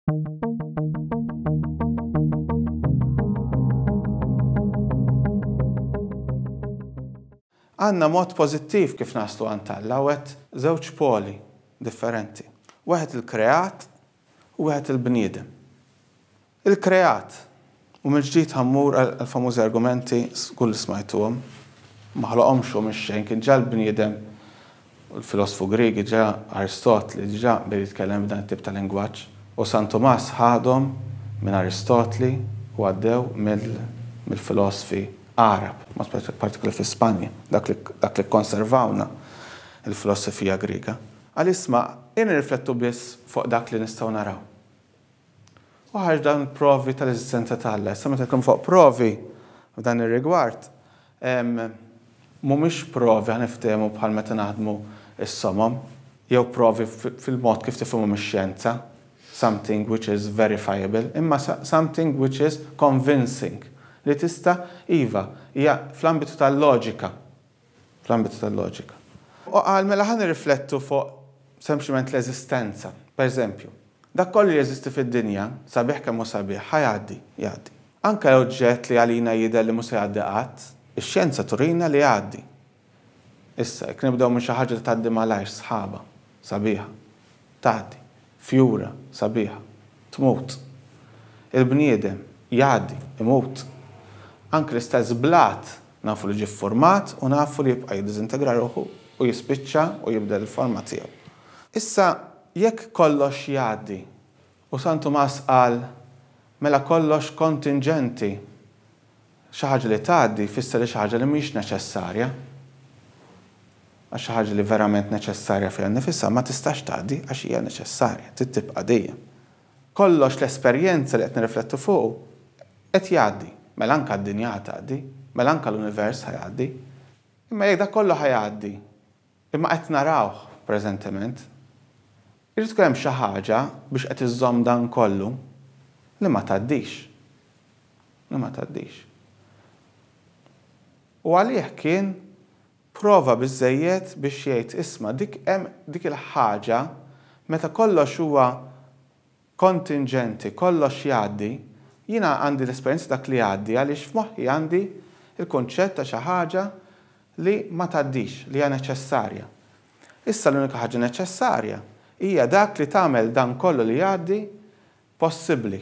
Għandna mod pożittiv kif naslu għand Alla u għedt żewġ poli differenti. Wieħed il-kreat u wieħed il-bniedem. Il-kreat, u mill-ġdid ħa mmur għall-famużi argumenti, żgur li smajtuhom, ma ħloqhomx hu mix-xejn, kien ġa l-bniedem, il-filosfu Grieg diġà Aristotli diġà beda jitkellem b'dan it-tip ta' lingwaġġ, u San Tumas ħadhom minn Aristotli u għaddew mill-filosfi Għarab, mod partikolari fi Spanja, dak li dak li kkonservawna l-filosofija Griega. Qal isma' ejja nirriflettu biss fuq dak li nistgħu naraw. U ħareġ dawn il-provi tal-eżistenza ta' Alla. Issa meta nitkellmu fuq provi f'dan ir-rigward, mhumiex provi ħa niftehmu bħal meta naħdmu s-somom, jew provi fil-mod kif tifhimhom ix-xjenza, something which is verifiable, imma something which is convincing, li tista' iva, hija fl-ambitu tal-loġika. fl-ambitu tal-loġika. U qal mela ħa nirriflettu fuq sempliċement l-eżistenza. Per eżempju, dak kollu li jeżisti fid-dinja, sabiħ kemm hu sabiħ, ħa jgħaddi, jgħaddi. Anke oġġett li għalina jidher li mhux se jgħaddi qatt, ix-xjenza turina li jgħaddi. Issa, jekk nibdew minn xi ħaġa li tgħaddi malajr, sħaba, sabiħa, tgħaddi. Fjura, sabiħa, tmut. Il-bniedem, jgħaddi, imut. Anke l-istess blat Nafu li ġie ffurmat u nafu li jibqa' jiddiżintegra ruħu u jispiċċa u jibdel il-forma tiegħu. Issa, jekk kollox jgħaddi, u San Tumas qal, mela kollox kontinġenti, xi ħaġa li tgħaddi jfisser li xi ħaġa li mhix neċessarja. Għax xi ħaġa li verament neċessarja fiha nnifisha ma tistax tgħaddi għax hija neċessarja, trid tibqa' dejjem. Kollox l-esperjenza li qed nirriflettu fuqu qed jgħaddi. Mela anke d-dinja ħa tgħaddi, mela anke l-univers ħa jgħaddi. Imma jekk dak kollu ħa jgħaddi, imma qed narawh preżentement, irid ikun hemm xi ħaġa biex qed iżżomm dan kollu li ma tgħaddix. Li ma tgħaddix. U għalih kien Prova biżżejjed biex jgħid isma' dik hemm dik il-ħaġa meta kollox huwa kontinġenti, kollox jgħaddi, jiena għandi l-esperjenza dak li jgħaddi għaliex f'moħħi għandi l-kunċett ta' xi ħaġa li ma tgħaddix, li hija neċessarja. Issa l-unika ħaġa neċessarja hija dak li tagħmel dan kollu li jgħaddi possibbli,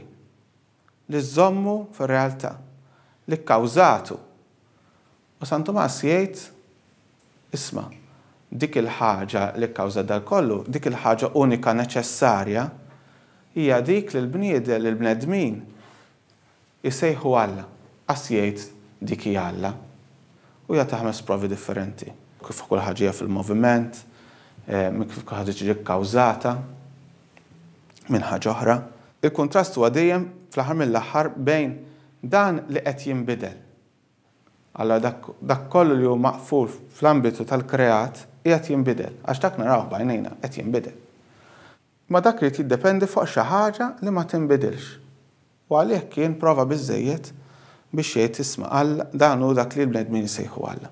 li żżommu fir-realtà, li kkawżatu. U San Tumas jgħid, Isma', dik il-ħaġa li kkawżat dal kollu, dik il-ħaġa unika neċessarja, hija dik li l-bniedem, li l-bnedmin isejħu Alla. Qas jgħid dik hija Alla. U jagħti ħames provi differenti. Kif kull ħaġa hija fil-moviment, kif kull ħaġa tiġi kkawżata minn ħaġa oħra. Il-kuntrast huwa dejjem fl-aħħar mill-aħħar bejn dan li qed jinbidel. Allura dak, dak kollu li hu maqful fl-ambitu tal-kreat qiegħed jinbidel, għax dak narawh b'għajnejna qed jinbidel. Imma dak irid jiddependi fuq xi ħaġa li ma tinbidilx. U għalih kien prova biżżejjed biex jgħid isma' Alla, dan hu dak li l-bnedmin isejħu Alla.